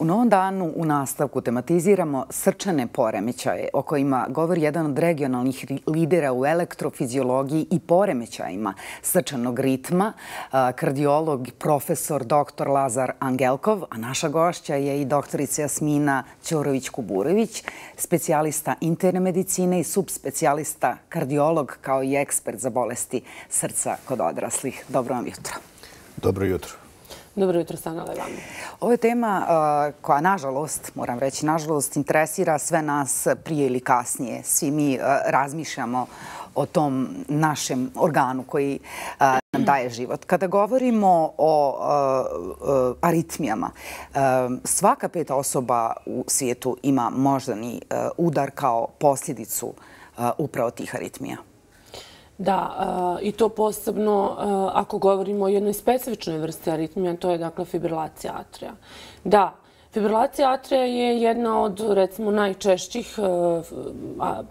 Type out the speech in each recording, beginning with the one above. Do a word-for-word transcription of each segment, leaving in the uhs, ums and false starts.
U Novom danu u nastavku tematiziramo srčane poremećaje o kojima govori jedan od regionalnih lidera u elektrofiziologiji i poremećajima srčanog ritma, kardiolog, profesor doktor Lazar Angelkov, a naša gošća je i doktorica Jasmina Ćorović-Kuburović, specijalista interne medicine i subspecijalista kardiolog kao i ekspert za bolesti srca kod odraslih. Dobro vam jutro. Dobro jutro. Dobro jutro, Stanala i vama. Ovo je tema koja, nažalost, moram reći, nažalost, interesira sve nas prije ili kasnije. Svi mi razmišljamo o tom našem organu koji nam daje život. Kada govorimo o aritmijama, svaka peta osoba u svijetu ima moždani udar kao posljedicu upravo tih aritmija. Da, i to posebno ako govorimo o jednoj specifičnoj vrsti aritmija, to je dakle fibrilacija atrija. Da, fibrilacija atrija je jedna od, recimo, najčešćih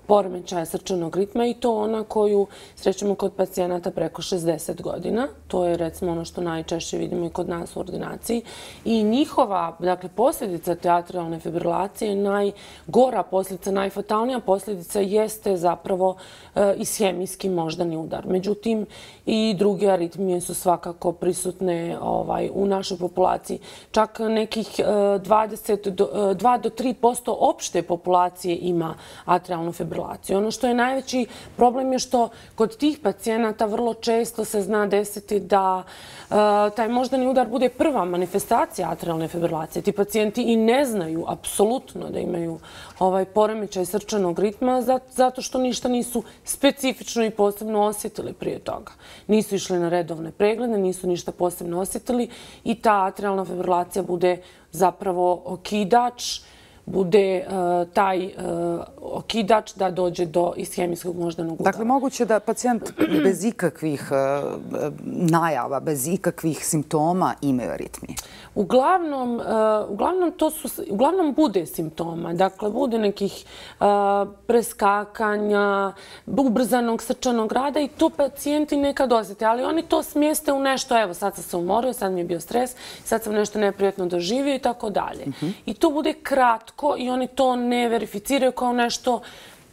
poremećaja srčanog ritma i to ona koju srećemo kod pacijenata preko šezdeset godina. To je, recimo, ono što najčešće vidimo i kod nas u ordinaciji. I njihova, dakle, posljedica te atrijalne fibrilacije, najgora posljedica, najfatalnija posljedica jeste zapravo ishemijski moždani udar. Međutim, i druge aritmije su svakako prisutne u našoj populaciji. Čak nekih dvadeset do dva do tri posto opšte populacije ima atrijalnu fibrilaciju. Ono što je najveći problem je što kod tih pacijenata vrlo često se zna desiti da taj moždani udar bude prva manifestacija atrijalne fibrilacije. Ti pacijenti i ne znaju apsolutno da imaju ovaj poremećaj srčanog ritma zato što ništa nisu specifično i posebno osjetili prije toga. Nisu išli na redovne preglede, nisu ništa posebno osjetili i ta atrijalna fibrilacija bude zapravo okidač, bude taj okidač da dođe do ishemijskog moždanog udara. Dakle, moguće da pacijent bez ikakvih najava, bez ikakvih simptoma imaju aritmije? Uglavnom, uglavnom, to su, uglavnom bude simptoma. Dakle, bude nekih preskakanja, ubrzanog srčanog rada i to pacijenti nekad osjete. Ali oni to smjeste u nešto, evo, sad sam se umorio, sad mi je bio stres, sad sam nešto neprijatno doživio i tako dalje. I to bude kratko i oni to ne verificiraju kao nešto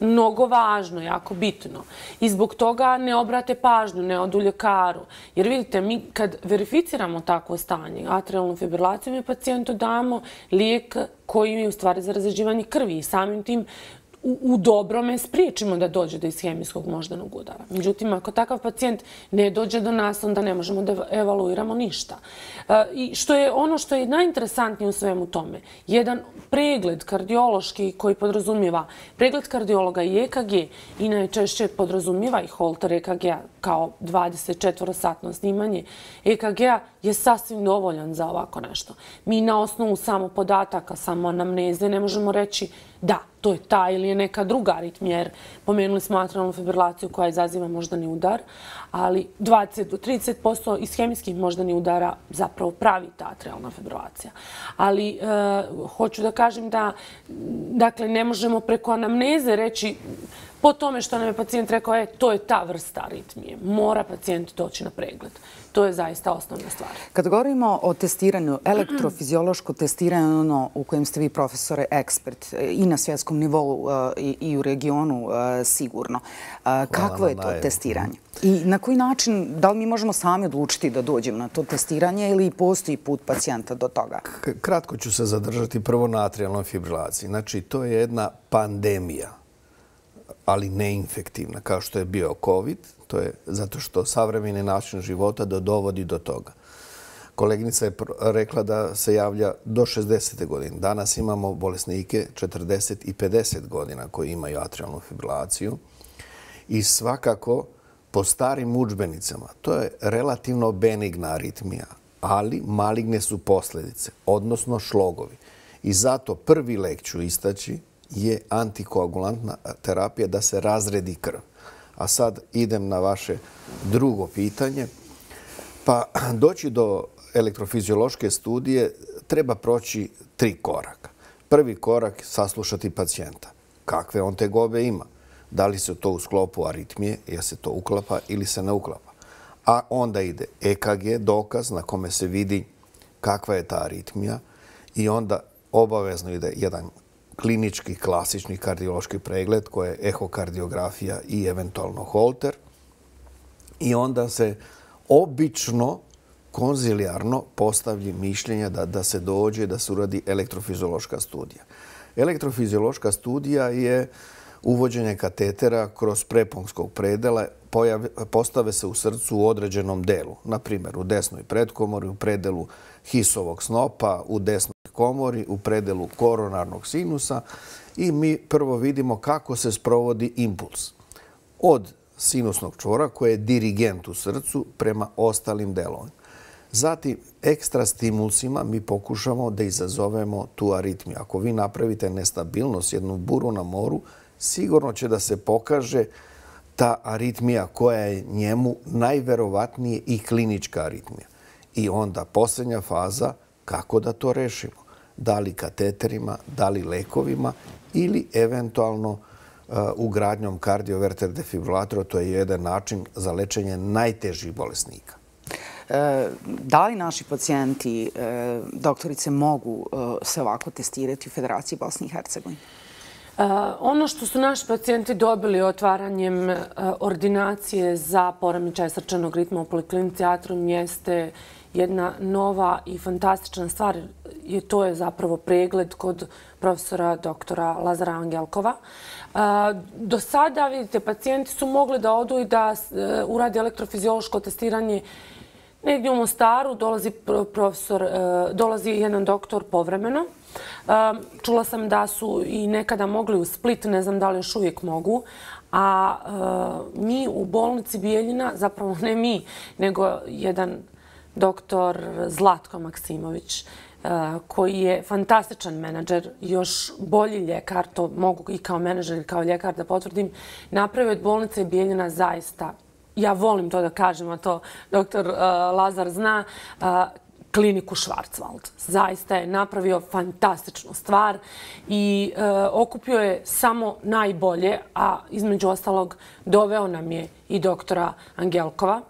mnogo važno, jako bitno. I zbog toga ne obrate pažnju, ne odu ljekaru. Jer vidite, mi kad verificiramo takvo stanje, atrijalnu fibrilaciju, mi pacijentu damo lijek koji je u stvari za razređivanje krvi i samim tim u dobrome spriječimo da dođe do ishemijskog moždanog udara. Međutim, ako takav pacijent ne dođe do nas, onda ne možemo da evaluiramo ništa. I što je ono što je najinteresantnije u svemu tome, jedan pregled kardiološki koji podrazumijeva pregled kardiologa i E K G i najčešće podrazumijeva i holter E K G-a kao dvadeset četiri satno snimanje E K G-a je sasvim dovoljan za ovako nešto. Mi na osnovu samo podataka, samo anamneze ne možemo reći da, to je ta ili je neka druga aritmija, jer pomenuli smo atrijalnu fibrilaciju koja izaziva moždani udar, ali dvadeset do trideset posto ishemijskih moždanih udara zapravo pravi ta atrijalna fibrilacija. Ali hoću da kažem da, dakle, ne možemo preko anamneze reći po tome što nam je pacijent rekao, e, to je ta vrsta aritmije. Mora pacijent doći na pregled. To je zaista osnovna stvar. Kad govorimo o testiranju, elektrofiziološko testiranje, ono u kojem ste vi, profesore, ekspert i na svjetskom nivou i u regionu sigurno, kakvo je to testiranje? I na koji način, da li mi možemo sami odlučiti da dođemo na to testiranje ili postoji put pacijenta do toga? Kratko ću se zadržati prvo na atrijalnoj fibrilaciji. Znači, to je jedna pandemija, ali neinfektivna, kao što je bio COVID. To je zato što savremeni način života dovodi do toga. Koleginica je rekla da se javlja do šezdesete godine. Danas imamo bolesnike četrdeset i pedeset godina koji imaju atrijalnu fibrilaciju i svakako po starim udžbenicama to je relativno benigna aritmija, ali maligne su posljedice, odnosno šlogovi. I zato prvi lek ću istaći je antikoagulantna terapija da se razredi krv. A sad idem na vaše drugo pitanje. Pa doći do elektrofiziološke studije treba proći tri koraka. Prvi korak saslušati pacijenta. Kakve on tegobe ima? Da li se to u sklopu aritmije, jer se to uklapa ili se ne uklapa? A onda ide E K G, dokaz na kome se vidi kakva je ta aritmija i onda obavezno ide jedan klinički, klasični kardiološki pregled koji je ehokardiografija i eventualno holter. I onda se obično konzilijarno postavlji mišljenje da, da se dođe da se uradi elektrofiziološka studija. Elektrofiziološka studija je uvođenje katetera kroz preponskog predela, pojave, postave se u srcu u određenom delu, na primjer u desnoj pretkomori, u predelu Hissovog snopa, u desnoj komori, u predelu koronarnog sinusa i mi prvo vidimo kako se sprovodi impuls od sinusnog čvora koji je dirigent u srcu prema ostalim delovima. Zatim, ekstra stimulsima mi pokušamo da izazovemo tu aritmiju. Ako vi napravite nestabilnost, jednu buru na moru, sigurno će da se pokaže ta aritmija koja je njemu najverovatnije i klinička aritmija. I onda posljednja faza, kako da to rešimo? Da li kateterima, da li lekovima ili eventualno uh, ugradnjom kardioverter defibrilatora, to je jedan način za lečenje najtežih bolesnika. E, da li naši pacijenti, e, doktorice, mogu e, se ovako testirati u Federaciji Bosne i Hercegovine? Uh, ono što su naši pacijenti dobili otvaranjem uh, ordinacije za poremećaj srčanog ritma u Poliklinici Atrium jeste jedna nova i fantastična stvar. I to je zapravo pregled kod profesora doktora Lazara Angelkova. Uh, do sada, vidite, pacijenti su mogli da odu i da uh, uradi elektrofiziološko testiranje negdje u Mostaru, dolazi profesor, uh, dolazi jedan doktor povremeno. Čula sam da su i nekada mogli u Split, ne znam da li još uvijek mogu, a mi u bolnici Bijeljina, zapravo ne mi, nego jedan doktor Zlatko Maksimović, koji je fantastičan menadžer, još bolji ljekar, to mogu i kao menadžer i kao ljekar da potvrdim, napravio od bolnice Bijeljina zaista, ja volim to da kažem, a to doktor Lazar zna, kliniku Schwarzwald. Zaista je napravio fantastičnu stvar i e, okupio je samo najbolje, a između ostalog doveo nam je i doktora Angelkova.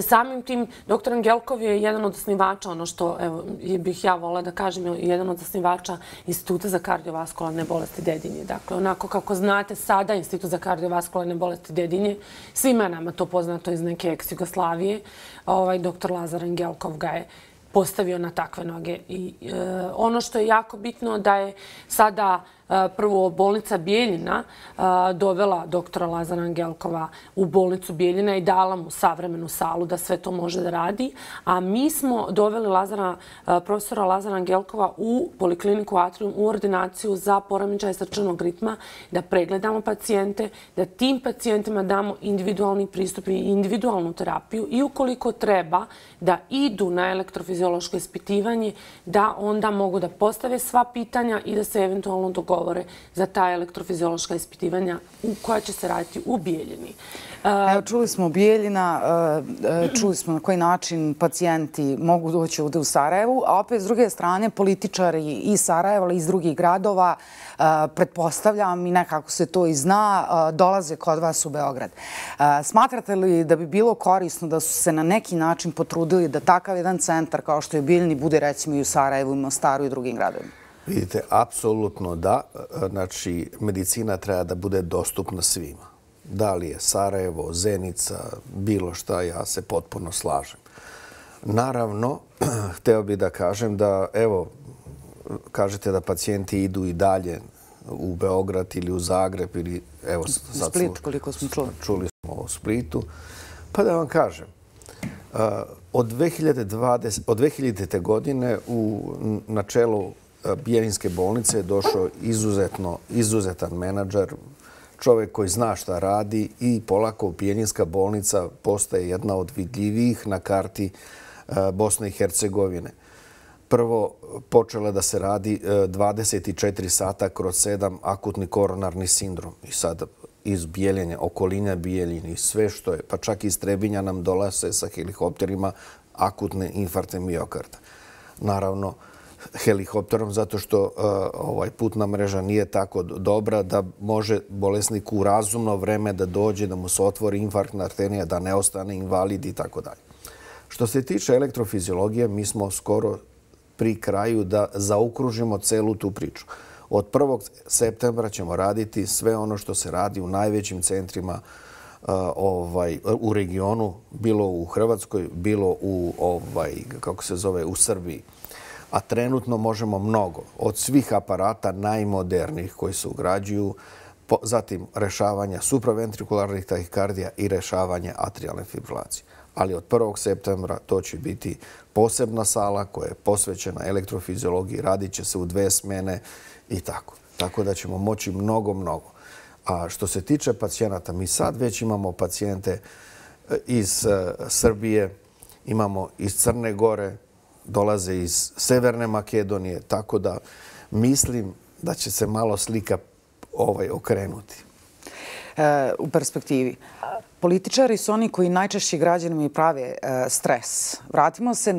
Samim tim, doktor Angelkov je jedan od osnivača, ono što evo, bih ja volila da kažem, je jedan od osnivača Instituta za kardiovaskularne bolesti Dedinje. Dakle, onako kako znate sada Institut za kardiovaskularne bolesti Dedinje, svima nama to poznato iz neke ex-Jugoslavije, ovaj, doktor Lazar Angelkov ga je postavio na takve noge. I e, ono što je jako bitno da je sada e, prvo bolnica Bijeljina e, dovela doktora Lazara Angelkova u bolnicu Bijeljina i dala mu savremenu salu da sve to može da radi. A mi smo doveli Lazara, e, profesora Lazara Angelkova u Polikliniku Atrium u ordinaciju za poremećaj srčanog ritma, da pregledamo pacijente, da tim pacijentima damo individualni pristup i individualnu terapiju i ukoliko treba da idu na elektrofiziološko ispitivanje, da onda mogu da postave sva pitanja i da se eventualno dogovore za ta elektrofiziološka ispitivanja koja će se raditi u Bijeljini. Evo, čuli smo Bijeljina, čuli smo na koji način pacijenti mogu doći ovdje u Sarajevu, a opet s druge strane političari iz Sarajeva ali i iz drugih gradova, pretpostavljam i nekako se to i zna, dolaze kod vas u Beograd. Smatrate li da bi bilo korisno da su se na neki način potrudili da takav jedan centar kao što je Bijeljini bude recimo i u Sarajevu, i Mostaru i drugim gradovima? Vidite, apsolutno da. Znači, medicina treba da bude dostupna svima. Da li je Sarajevo, Zenica, bilo šta, ja se potpuno slažem. Naravno, hteo bih da kažem da, evo, kažete da pacijenti idu i dalje u Beograd ili u Zagreb ili, evo, sad Split, koliko smo čuli. Čuli smo o Splitu. Pa da vam kažem, od dve hiljade dvadesete. od dve hiljadite. godine u načelu Bijeljinske bolnice je došao izuzetno, izuzetan menadžer, čovjek koji zna šta radi i polako Bijeljinska bolnica postaje jedna od vidljivijih na karti Bosne i Hercegovine. Prvo, počela da se radi dvadeset četiri sata kroz sedam akutni koronarni sindrom. I sad iz Bijeljine, okoline Bijeljine i sve što je, pa čak iz Trebinja nam dolaze sa helikopterima akutne infarte miokarda. Naravno, helikopterom zato što uh, ovaj putna mreža nije tako dobra da može bolesnik u razumno vreme da dođe, da mu se otvori infarktna arterija, da ne ostane invalid i tako dalje. Što se tiče elektrofiziologije, mi smo skoro pri kraju da zaokružimo celu tu priču. Od prvog septembra ćemo raditi sve ono što se radi u najvećim centrima ovaj, u regionu, bilo u Hrvatskoj, bilo u, ovaj, kako se zove, u Srbiji. A trenutno možemo mnogo. Od svih aparata najmodernijih koji se ugrađuju, zatim rešavanja supraventrikularnih tahikardija i rešavanje atrijalne fibrilacije. Ali od prvog septembra to će biti posebna sala koja je posvećena elektrofiziologiji, radit će se u dve smene i tako. Tako da ćemo moći mnogo, mnogo. A što se tiče pacijenata, mi sad već imamo pacijente iz Srbije, imamo iz Crne Gore, dolaze iz Severne Makedonije, tako da mislim da će se malo slika ovaj okrenuti. E, u perspektivi. Političari su oni koji najčešće građanima prave e, stres. Vratimo se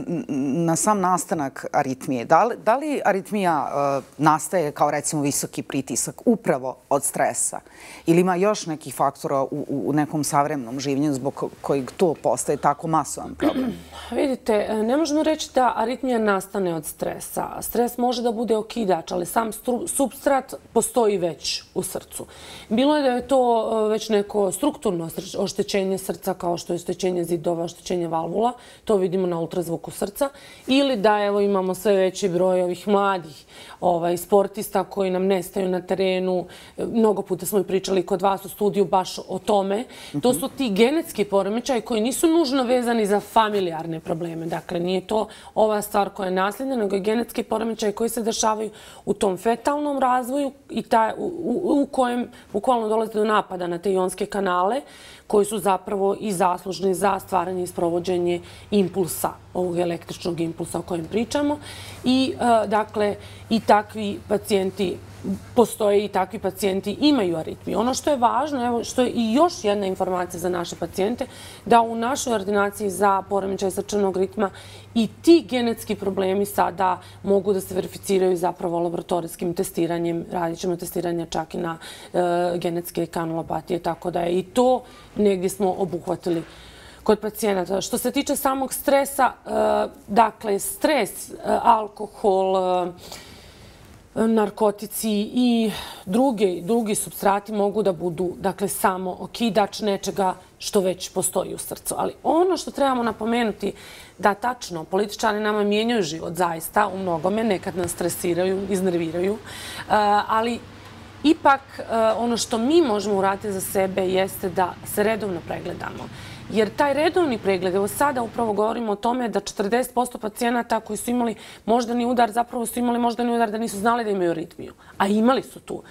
na sam nastanak aritmije. Da li, da li aritmija e, nastaje kao recimo visoki pritisak upravo od stresa? Ili ima još nekih faktora u, u nekom savremenom življenju zbog kojeg to postaje tako masovan problem? Vidite, ne možemo reći da aritmija nastane od stresa. Stres može da bude okidač, ali sam supstrat postoji već u srcu. Bilo je da je to već neko strukturno oštećenje srca, kao što je oštećenje zidova, oštećenje valvula, to vidimo na ultrazvuku srca, ili da evo imamo sve veći broj ovih mladih ovaj, sportista koji nam nestaju na terenu. Mnogo puta smo i pričali kod vas u studiju baš o tome. To su ti genetski poremećaji koji nisu nužno vezani za familijarne probleme. Dakle, nije to ova stvar koja je nasljedna, nego je genetski poremećaj koji se dešavaju u tom fetalnom razvoju i taj, u, u, u kojem bukvalno dolazi do napada na te ionske kanale koji su zapravo i zaslužni za stvaranje i sprovođenje impulsa, ovog električnog impulsa o kojem pričamo. I, dakle, i takvi pacijenti postoje i takvi pacijenti imaju aritmiju. Ono što je važno, evo, što je i još jedna informacija za naše pacijente, da u našoj ordinaciji za poremećaj srčanog ritma i ti genetski problemi sada mogu da se verificiraju zapravo laboratorijskim testiranjem. Radit ćemo testiranje čak i na e, genetske kanulopatije, tako da je i to negdje smo obuhvatili kod pacijenata. Što se tiče samog stresa, e, dakle, stres, e, alkohol, e, narkotici i drugi, drugi supstrati mogu da budu, dakle, samo okidač nečega što već postoji u srcu. Ali ono što trebamo napomenuti da tačno političari nama mijenjaju život zaista u mnogome, nekad nas stresiraju, iznerviraju, ali ipak ono što mi možemo uraditi za sebe jeste da se redovno pregledamo. Jer taj redovni pregled, evo sada upravo govorimo o tome da četrdeset posto pacijenata koji su imali moždani udar, zapravo su imali moždani udar da nisu znali da imaju aritmiju, a imali su tu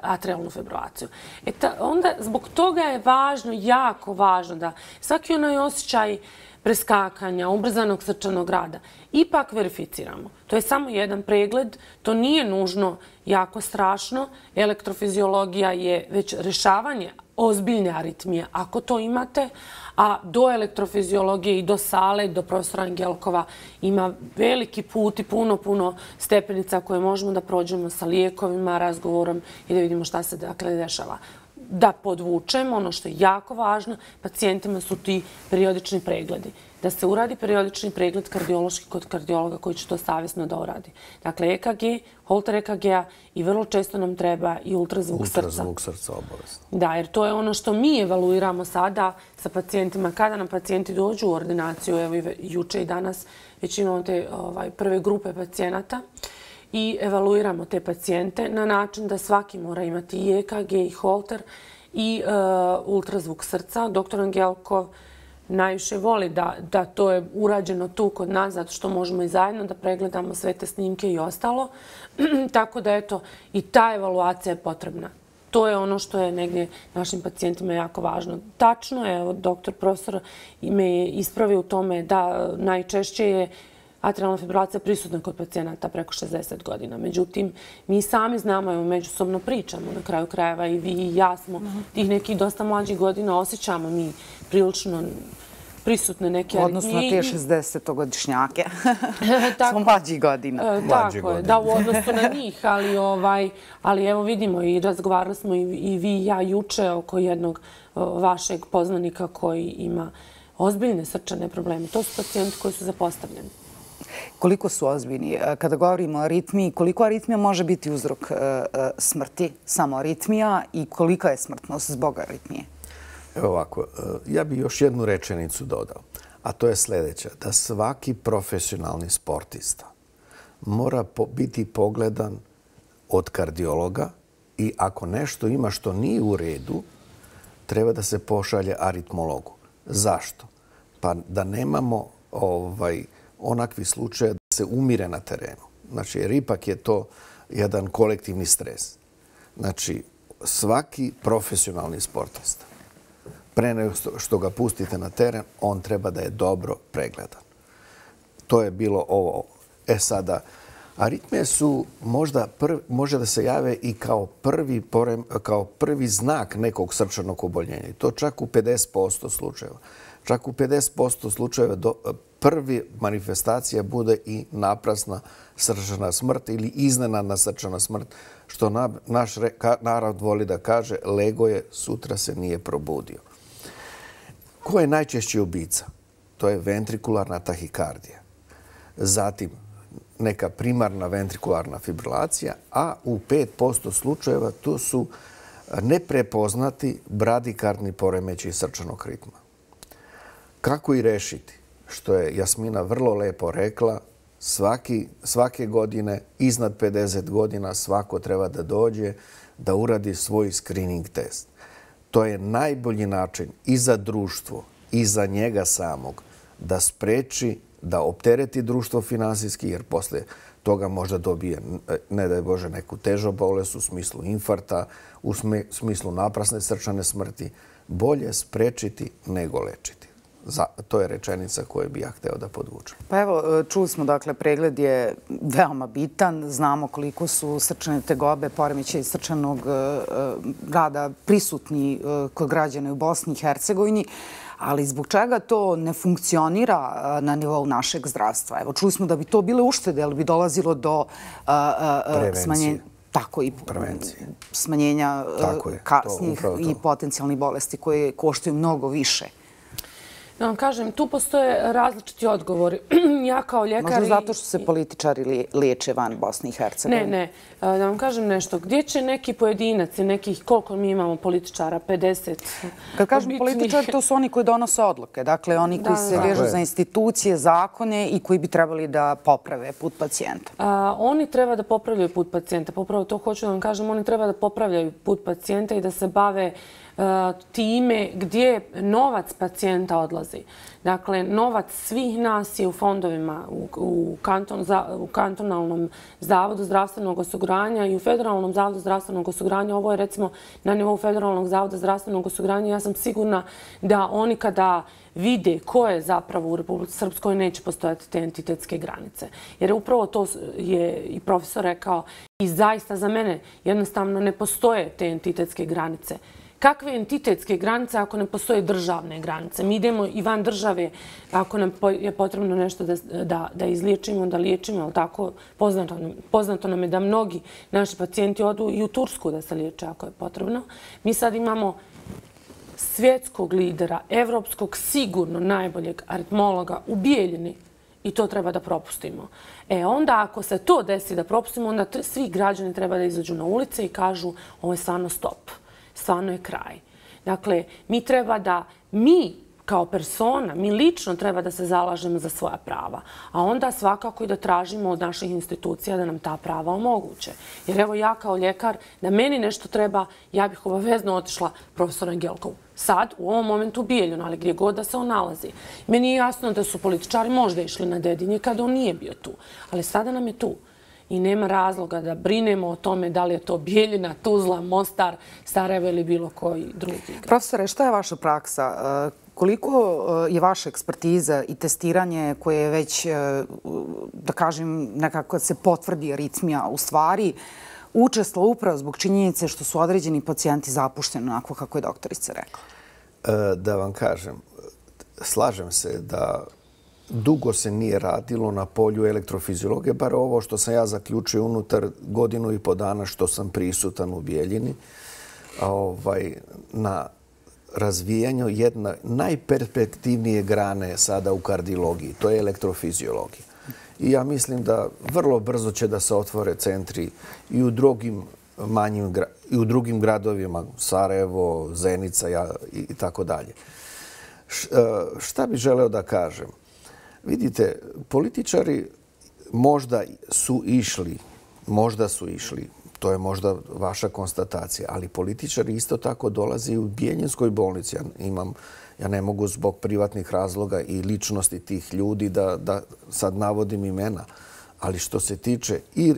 atrijalnu fibrilaciju. E ta, onda zbog toga je važno, jako važno da svaki onaj osjećaj preskakanja, ubrzanog srčanog rada, ipak verificiramo. To je samo jedan pregled, to nije nužno jako strašno. Elektrofiziologija je već rešavanje ozbiljne aritmije, ako to imate, a do elektrofiziologije i do sale, do profesora Angelkova ima veliki put i puno, puno stepenica koje možemo da prođemo sa lijekovima, razgovorom i da vidimo šta se dakle dešava. Da podvučemo, ono što je jako važno, pacijentima su ti periodični pregledi. Da se uradi periodični pregled kardiološki kod kardiologa koji će to savjesno da uradi. Dakle, E K G, holter E K G-a i vrlo često nam treba i ultrazvuk srca. Ultrazvuk srca obavezno. Da, jer to je ono što mi evaluiramo sada sa pacijentima. Kada nam pacijenti dođu u ordinaciju, evo i juče i danas, već imamo te ovaj, prve grupe pacijenata, i evaluiramo te pacijente na način da svaki mora imati i E K G i holter i uh, ultrazvuk srca. Doktor Angelkov najviše voli da, da to je urađeno tu kod nas, zato što možemo i zajedno da pregledamo sve te snimke i ostalo. Tako da, eto, i ta evaluacija je potrebna. To je ono što je negdje našim pacijentima jako važno. Tačno je, evo, doktor profesor me je ispravio u tome da najčešće je atrijalna fibrilacija prisutna kod pacijenata preko šezdeset godina. Međutim, mi sami znamo, evo, međusobno pričamo, na kraju krajeva i vi i ja smo tih nekih dosta mlađih godina, osjećamo mi prilično prisutne neke aritmije. Odnosno na te šezdesetogodišnjake. Smo mlađih godina. Tako je, da, u odnosu na njih, ali, ovaj, ali evo vidimo i razgovarali smo i, i vi i ja juče oko jednog vašeg poznanika koji ima ozbiljne srčane probleme. To su pacijenti koji su zapostavljeni. Koliko su ozbiljni? Kada govorimo o aritmiji, koliko aritmija može biti uzrok smrti? Samo aritmija i kolika je smrtnost zbog aritmije? Evo ovako, ja bih još jednu rečenicu dodao, a to je sljedeća, da svaki profesionalni sportista mora biti pogledan od kardiologa i ako nešto ima što nije u redu, treba da se pošalje aritmologu. Zašto? Pa da nemamo ovaj, onakvi slučaje da se umire na terenu. Znači, jer ipak je to jedan kolektivni stres. Znači, svaki profesionalni sportista, pre nego što ga pustite na teren, on treba da je dobro pregledan. To je bilo ovo. E sada, aritmije su možda prvi, može da se jave i kao prvi, porem, kao prvi znak nekog srčanog oboljenja. I to čak u pedeset posto slučajeva. Čak u pedeset posto slučajeva do, prvi manifestacija bude i naprasna srčana smrt ili iznenadna srčana smrt, što na, naš ka, narod voli da kaže lego je, sutra se nije probudio. Ko je najčešći ubica? To je ventrikularna tahikardija. Zatim, neka primarna ventrikularna fibrilacija, a u pet posto slučajeva to su neprepoznati bradikardni poremećaji srčanog ritma. Kako i rešiti? Što je Jasmina vrlo lepo rekla, svaki, svake godine, iznad pedeset godina, svako treba da dođe da uradi svoj screening test. To je najbolji način i za društvo i za njega samog da spreči, da optereti društvo finansijski, jer posle toga možda dobije, ne daj Bože, neku težu bolest u smislu infarta, u smislu naprasne srčane smrti. Bolje sprečiti nego lečiti. Za, to je rečenica koju bi ja hteo da podvučem. Pa evo, čuli smo, dakle, pregled je veoma bitan. Znamo koliko su srčane tegobe, poremećaji srčanog rada prisutni kod građana u Bosni i Hercegovini. Ali zbog čega to ne funkcionira na nivou našeg zdravstva? Evo, čuli smo da bi to bile uštede, ali bi dolazilo do smanjenja, tako i smanjenja kasnijih i potencijalnih bolesti koje koštaju mnogo više. Da vam kažem, tu postoje različiti odgovori. Ja kao ljekar... Možda zato što se političari liječe van Bosne i Hercegovine. Ne, ne. Da vam kažem nešto. Gdje će neki pojedinac i nekih, koliko mi imamo političara, pedeset? Kad kažem političari, to su oni koji donose odluke. Dakle, oni koji se vežu za institucije, zakone i koji bi trebali da poprave put pacijenta. Oni treba da popravljaju put pacijenta. Popravo to hoću da vam kažem. Oni treba da popravljaju put pacijenta i da se bave time gdje novac pacijenta odlazi. Dakle, novac svih nas je u fondovima, u, kanton, u kantonalnom zavodu zdravstvenog osiguranja i u federalnom zavodu zdravstvenog osiguranja. Ovo je recimo na nivou federalnog zavoda zdravstvenog osiguranja. Ja sam sigurna da oni kada vide ko je zapravo u Republici Srpskoj neće postojati te entitetske granice. Jer upravo to je i profesor rekao i zaista za mene jednostavno ne postoje te entitetske granice. Kakve entitetske granice ako ne postoje državne granice? Mi idemo i van države ako nam je potrebno nešto da, da, da izliječimo, da liječimo, ali tako poznato, poznato nam je da mnogi naši pacijenti odu i u Tursku da se liječe ako je potrebno. Mi sad imamo svjetskog lidera, evropskog sigurno najboljeg aritmologa u Bijeljini i to treba da propustimo. E onda ako se to desi da propustimo, onda svi građani treba da izađu na ulice i kažu ovo je stvarno stop. Stvarno je kraj. Dakle, mi treba da, mi kao persona, mi lično treba da se zalažemo za svoja prava. A onda svakako i da tražimo od naših institucija da nam ta prava omoguće. Jer evo ja kao ljekar, da meni nešto treba, ja bih obavezno otišla profesoru Angelkovu. Sad, u ovom momentu u Bijeljinu, ali gdje god da se on nalazi. Meni je jasno da su političari možda išli na Dedinje kada on nije bio tu. Ali sada nam je tu. I nema razloga da brinemo o tome da li je to Bijeljina, Tuzla, Mostar, Sarajevo ili bilo koji drugi grad. Profesore, šta je vaša praksa? Koliko je vaša ekspertiza i testiranje koje je već, da kažem, nekako se potvrdi aritmija u stvari, učestvalo upravo zbog činjenice što su određeni pacijenti zapušteni onako kako je doktorica rekla? Da vam kažem, slažem se da dugo se nije radilo na polju elektrofiziologije, bar ovo što sam ja zaključio unutar godinu i po dana što sam prisutan u Bijeljini, ovaj, na razvijanju jedne najperspektivnije grane sada u kardiologiji, to je elektrofiziologija. i ja mislim da vrlo brzo će da se otvore centri i u drugim manjim i u drugim gradovima, Sarajevo, Zenica i tako dalje. Šta bih želeo da kažem? Vidite, političari možda su išli, možda su išli, to je možda vaša konstatacija, ali političari isto tako dolaze i u Bijeljinskoj bolnici. Ja imam, ja ne mogu zbog privatnih razloga i ličnosti tih ljudi da, da sad navodim imena, ali što se tiče i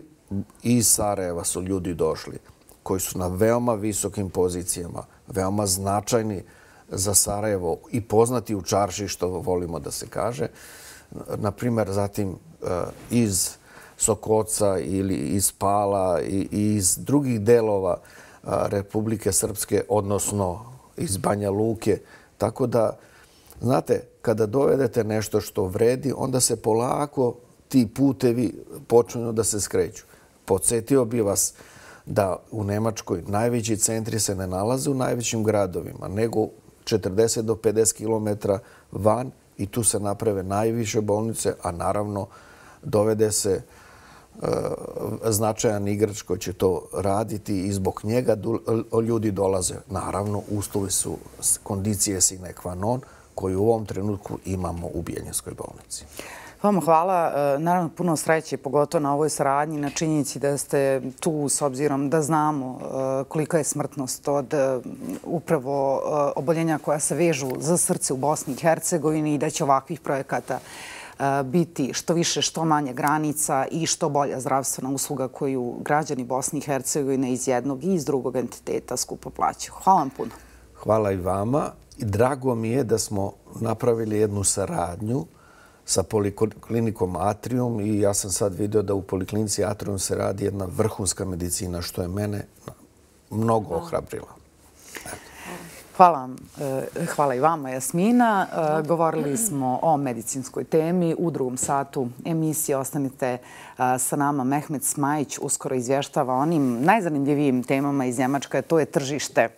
iz Sarajeva su ljudi došli koji su na veoma visokim pozicijama, veoma značajni za Sarajevo i poznati u čarši, što volimo da se kaže. Naprimer, zatim iz Sokoca ili iz Pala i iz drugih delova Republike Srpske, odnosno iz Banja Luke. Tako da, znate, kada dovedete nešto što vredi, onda se polako ti putevi počinju da se skreću. Podsjetio bi vas da u Nemačkoj najveći centri se ne nalaze u najvećim gradovima, nego četrdeset do pedeset kilometara van i tu se naprave najviše bolnice, a naravno dovede se značajan igrač koji će to raditi i zbog njega ljudi dolaze. Naravno, uslovi su kondicije sine qua non koji u ovom trenutku imamo u Bijeljinskoj bolnici. Vama hvala. Naravno, puno sreće, pogotovo na ovoj saradnji, na činjenici da ste tu s obzirom da znamo kolika je smrtnost od upravo oboljenja koja se vežu za srce u Bosni i Hercegovini i da će ovakvih projekata biti što više, što manje granica i što bolja zdravstvena usluga koju građani Bosne i Hercegovine iz jednog i iz drugog entiteta skupo plaćaju. Hvala vam puno. Hvala i vama. Drago mi je da smo napravili jednu saradnju sa Poliklinikom Atrium i ja sam sad vidio da u Poliklinici Atrium se radi jedna vrhunska medicina, što je mene mnogo ohrabrila. Hvala vam. Hvala i vama, Jasmina. Govorili smo o medicinskoj temi. U drugom satu emisije ostanite sa nama. Mehmet Smajić uskoro izvještava onim najzanimljivijim temama iz Njemačke, to je tržište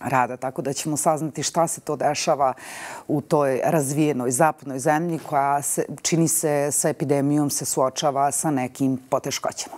rada, tako da ćemo saznati šta se to dešava u toj razvijenoj zapadnoj zemlji koja, čini se, sa epidemijom se suočava sa nekim poteškoćama.